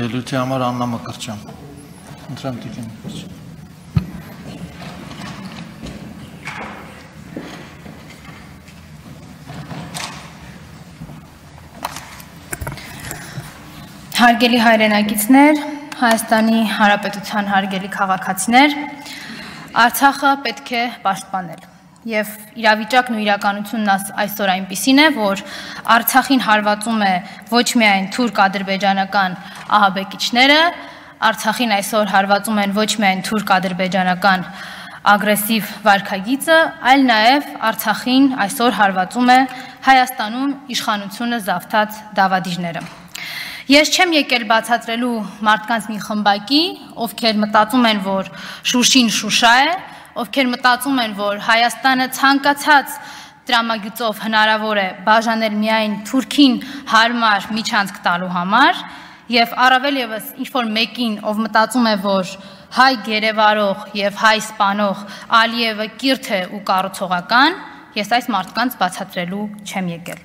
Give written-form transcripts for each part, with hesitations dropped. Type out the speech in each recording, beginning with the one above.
Ելույթի համար Աննա Մկրտչյան։ Ընտրեմ տիկին Մկրտչյան։ Հարգելի հայրենակիցներ, Հայաստանի Հանրապետության հարգելի քաղաքացիներ, Արցախը պետք է պաշտպանել։ Եվ իրավիճակն ու իրականությունն այսօր այնպիսին է, որ Արցախին հարվածում է ոչ միայն թուրք-ադրբեջանական ահաբեկիչները, Արցախին այսօր հարվածում են ոչ միայն թուրք-ադրբեջանական ագրեսիվ վարքագիծը, այլ նաև Արցախին այսօր հարվածում է Հայաստանում իշխանությունը զավթած դավադիրները։ Ես չեմ եկել բացատրելու մարդկանց մի խմբակի, ովքեր մտածում են, որ Շուշին Շուշա է, ովքեր մտածում են, որ Հայաստանը ցանկացած տրամագծով հնարավոր է բաժանել միայն Թուրքին հարմար միջանցք տալու համար, եւ առավել եւս ինչ-որ մեկին, ով մտածում է, որ հայ գերեվարող եւ հայ սպանող Ալիևը կիրթ է ու կառուցողական, ես այս մարդկանց բացատրելու չեմ եկել։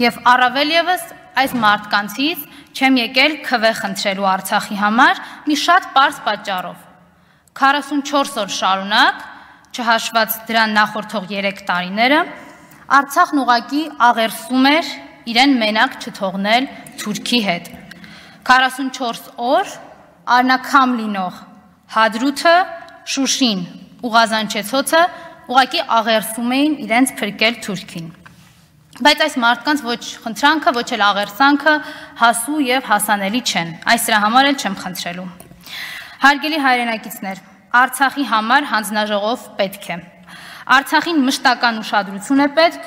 Եվ առավել եւս այս մարդկանցից չեմ եկել քվե խնդրելու Արցախի համար մի շատ պարզ պատճառով։ 44 օր շարունակ, չհաշված դրան նախորդող 3 տարիները, Արցախն ուղղակի աղերսում էր իրեն մենակ չթողնել Թուրքի հետ։ 44 օր արնակամ լինող Հադրութը, Շուշին ու Ղազանչեցոցը ուղղակի աղերսում էին իրենց փրկել Թուրքին։ Բայց այս մարդկանց ոչ խնդրանքը, ոչ էլ աղերսանքը հասու եւ հասանելի չեն։ Այս դրա համար էլ չեմ խնդրելու։ Հարգելի հայրենակիցներ, Արցախի համար հանձնաժողով պետք է։ Արցախին մշտական ուշադրություն է պետք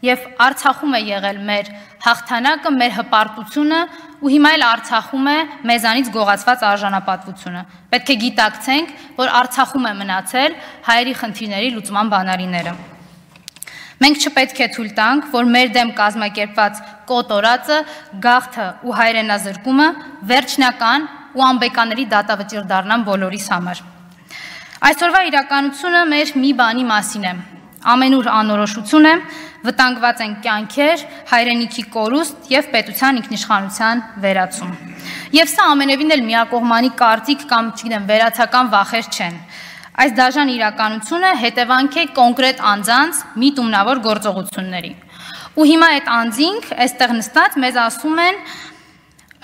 եւ Արցախում է եղել մեր հաղթանակը, մեր հպարտությունը ու հիմա էլ Արցախում է մեզանից գողացված արժանապատվությունը։ Պետք է գիտակցենք, որ Արցախում է մնացել հայերի խնդիրների լուծման բանալիները։ Մենք չպետք է թույլ տանք, որ մեր դեմ կազմակերպված կոտորածը, գաղթը ու հայրենազրկումը վերջնական ու անբեկանելի դատավճիռ դառնան բոլորիս համար։ Այսօրվա իրականությունը մեր մի բանի մասին է։ Ամենուր անորոշություն է, վտանգված են կյանքեր, հայրենիքի կորուստ եւ պետության ինքնիշխանության վերացում։ Եվ սա ամենևին էլ միակողմանի կարծիք կամ, չգիտեմ, վերացական վախեր չեն։ Այս դաժան իրականությունը հետևանք է կոնկրետ անձանց միտումնավոր գործողությունների։ Ու հիմա այդ անձինք այստեղ նստած մեզ ասում են,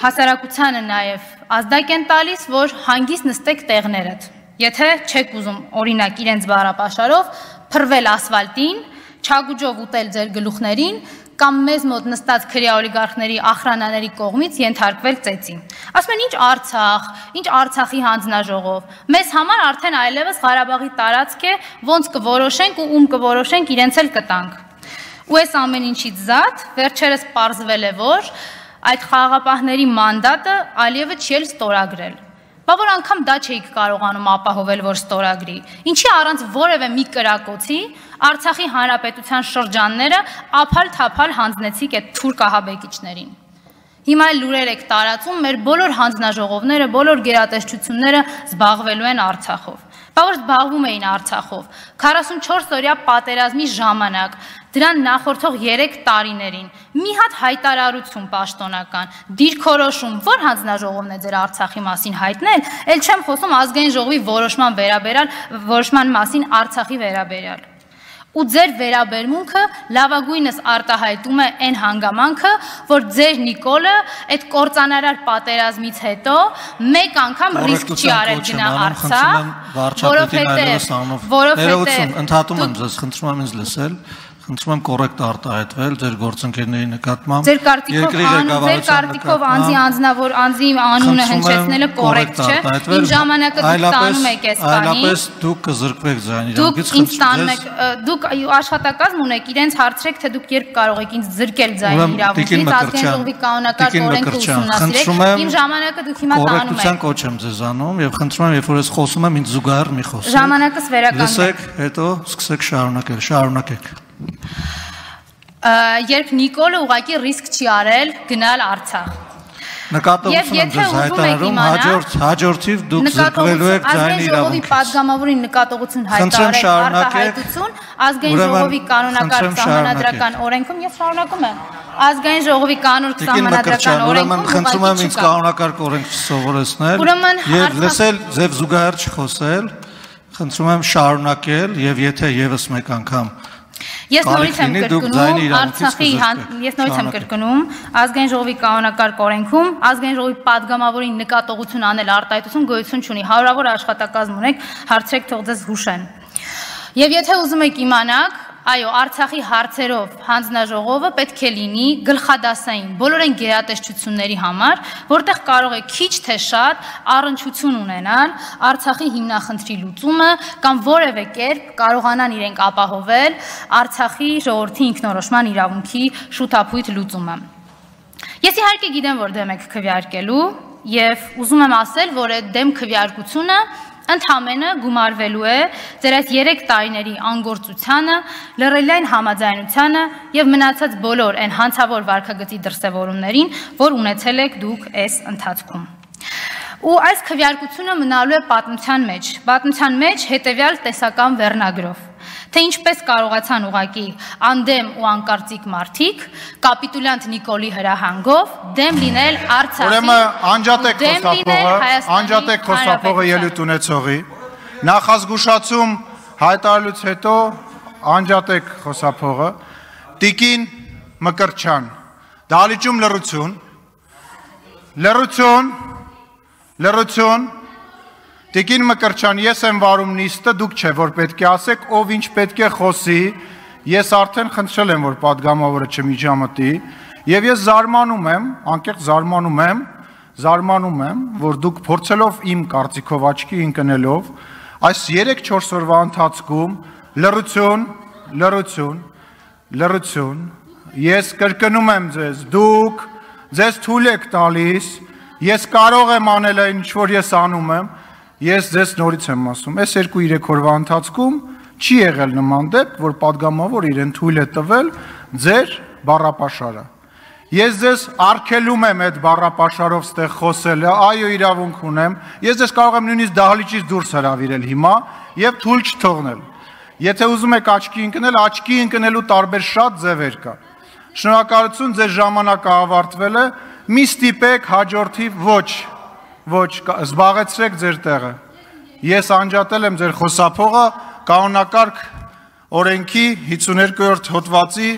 հասարակությանը նաև ազդակ են տալիս, որ հանգիստ նստեք տեղներդ։ Եթե չեք ուզում օրինակ իրենց բառապաշարով փռվել ասֆալտին, չագուջով ուտել ձեր գլուխներին կամ մեզ մոտ նստած քրեա օլիգարխների ախրանաների կողմից ենթարկվել ծեծին։ Ասում են ինչ Արցախ, ինչ Արցախի հանձնաժողով։ Մեզ համար արդեն այլևս Ղարաբաղի տարածք է, ոնց կորոշենք ու ում կորոշենք, իրենց էլ կտանք։ Ու այս ամեն ինչից զատ վերջերս պարզվել է, որ այդ խաղաղապահների մանդատը Ալիևը չի էլ ստորագրել։ Բա որ անգամ դա չէիք կարողանում ապահովել, որ ստորագրի։ Ինչի առանց որևէ մի կրակոցի Արցախի հանրապետության շրջանները ափալ-թափալ հանձնեցիք այդ թուրք ահաբեկիչներին։ Հիմա էլ լուրեր եք տարածում, մեր բոլոր հանձնաժողովները, բոլոր գերատեսչությունները զբաղվելու են Արցախով։ Բա որ զբաղվում էին Արցախով 44-օրյա պատերազմի ժամանակ, դրան նախորդող 3 տարիներին, մի հատ հայտարարություն պաշտոնական, դիրքորոշում, որ հանձնաժողովն է ձեր Արցախի մասին հայտնել, ել չեմ խոսում ազգային ժողովի որոշման մասին Արցախի վերաբերյալ։ Ու ձեր վերաբերմունքը լավագույնս արտահայտում է այն հանգամանքը, որ ձեր Նիկոլը այդ կործանարար պատերազմից հետո մեկ անգամ ռիսկ չի արել գնա Արցախ, որովհետև ընդհատում եմ ձեզ, խնդրում եմ ինձ լսել, խնդրում եմ կոռեկտ արտահայտվել ձեր գործընկերների նկատմամբ։ Ձեր կարտիկով անձի անունը հնչեցնելը կոռեկտ չէ։ Իմ ժամանակը դուք տանում եք այս բանին։ Այլապես դուք կզրկվեք ձայնի իրավունքից։ Դուք ինձ տանում եք, դուք աշխատակազմ ունեք, իրենց հարցրեք, թե դուք երբ կարող եք ինձ զրկել ձայնի իրավունքից, ազգային ժողովի կանոնակարգ օրենքը ուսումնասիրեք։ Իմ ժամանակը դուք հիմա տանում եք։ Կոռեկտության կոչ եմ ձեզ անում եւ խնդրում եմ, երբ որ ես խոսում եմ, ինձ զուգահեռ մի խոսեք։ Ժամանակս վերականգնեք։ Լսեք, հետո սկսեք շարունակեք։ Երբ Նիկոլը ուղղակի ռիսկ չի արել գնալ Արցախ։ Նկատողություն եմ ձեզ հայտարարում, հաջորդիվ դուք զրկվելու եք ձայնի իրավունքից։ Պատգամավորին նկատողություն հայտարարել արտահայտություն, ազգային ժողովի կանոնակարգ սահմանադրական օրենքում ես շարունակում եմ։ Ազգային ժողովի կանոն սահմանադրական օրենքում խնդրում եմ ինձ կանոնակարգ օրենք չսովորեցնել եւ լսել ձեւ զուգահեռ չխոսել, խնդրում եմ շարունակել եւ եթե եւս մեկ անգամ Ես նորից եմ կրկնում ազգային ժողովի կանոնակարգ օրենքում ազգային ժողովի պատգամավորին նկատողություն անել արտահայտություն գոյություն չունի հարյուրավոր աշխատակազմ ունեք հարցրեք թող ձեզ հուշեն Եվ եթե ուզում եք իմանաք այո Արցախի հարցերով հանձնաժողովը պետք է լինի գլխադասային բոլոր այն գերատեսչությունների համար որտեղ կարող է քիչ թե շատ առնչություն ունենալ Արցախի հիմնախնդրի լուծումը կամ որևէ կերպ կարողանան իրենք ապահովել Արցախի ժողովրդի ինքնորոշման իրավունքի շուտափույթ լուծումը Ես իհարկե գիտեմ որ դեմ եք քվեարկելու եւ ուզում եմ ասել որ այդ դեմ քվեարկությունը Ընդհանրապես գումարվելու է ձեր այս 3 տարիների անգործությանը, լրելային համաձայնությանը եւ մնացած բոլոր այն հանցավոր վարքագծի դրսեւորումներին, որ ունեցել եք դուք այս ընթացքում։ Ու այս քվեարկությունը մնալու է պատմության մեջ հետեւյալ տեսական վերնագրով Թե ինչպես կարողացան ուղակի անդեմ ու անկարծիկ մարդիկ կապիտուլյանտ Նիկոլի հրահանգով դեմ լինել Արցախի անջատեք խոսափողը ելույթ ունեցողի նախազգուշացում հայտարարելուց հետո անջատեք խոսափողը Տիկին Մկրտչյան դահլիճում լռություն Տիկին Մկրտչյան, ես եմ վարում նիստը, դուք չէ, որ պետք է ասեք, ով ինչ պետք է խոսի, ես արդեն խնդրել եմ, որ պատգամավորը չմիջամտի, եւ ես զարմանում եմ, անկեղծ զարմանում եմ, որ դուք փորձելով իմ կարծիքով աչքի ընկնելով, այս 3-4 օրվա ընթացքում լռություն, ես կրկնում եմ ձեզ, դուք ձեզ թույլ եք տալիս, ես կարող եմ անել այն, ինչ որ ես անում եմ, Ես ձեզ նորից եմ ասում, այս 2-3 օրվա ընթացքում չի եղել նման դեպք, որ պատգամավոր իրեն թույլ է տվել ձեր բառապաշարը։ Ես ձեզ արգելում եմ այդ բառապաշարով ստեղ խոսելը, այո իրավունք ունեմ, ես ձեզ կարող եմ նույնիսկ դահլիճից դուրս հրավիրել հիմա եւ թույլ չթողնել։ Եթե ուզում եք աչքի ընկնելու տարբեր շատ ձևեր կա։ Շնորհակալություն, ձեր ժամանակը ավարտվել է, մի ստիպեք հաջորդիվ Ոչ, զբաղեցրեք ձեր տեղը։ Ես անջատել եմ ձեր խոսափողը կանոնակարգ օրենքի 52-րդ հոդվածի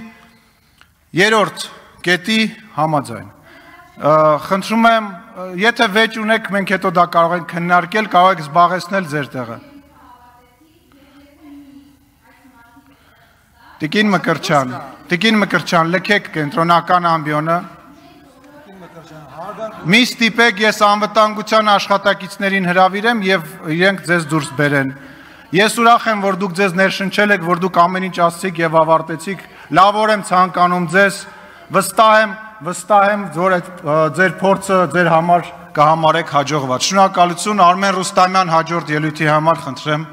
3-րդ կետի համաձայն։ Խնդրում եմ, եթե վեճ ունեք, մենք հետո դա կարող ենք քննարկել, կարող եք զբաղեցնել ձեր տեղը։ Տիկին Մկրտչյան, լքեք կենտրոնական ամբիոնը։ Մի ստիպեք ես անվտանգության աշխատակիցներին հրավիրեմ եւ իրենք ձեզ դուրս բերեն։ Ես ուրախ եմ, որ դուք ձեզ ներշնչել եք, որ դուք ամեն ինչ ասցիք եւ ավարտեցիք։ Լավ եմ ցանկանում ձեզ, վստահ եմ, որ ձեր փորձը ձեր համար կհամարեք հաջողված։ Շնորհակալություն Արմեն Ռուստամյան հաջորդ ելույթի համար, խնդրեմ։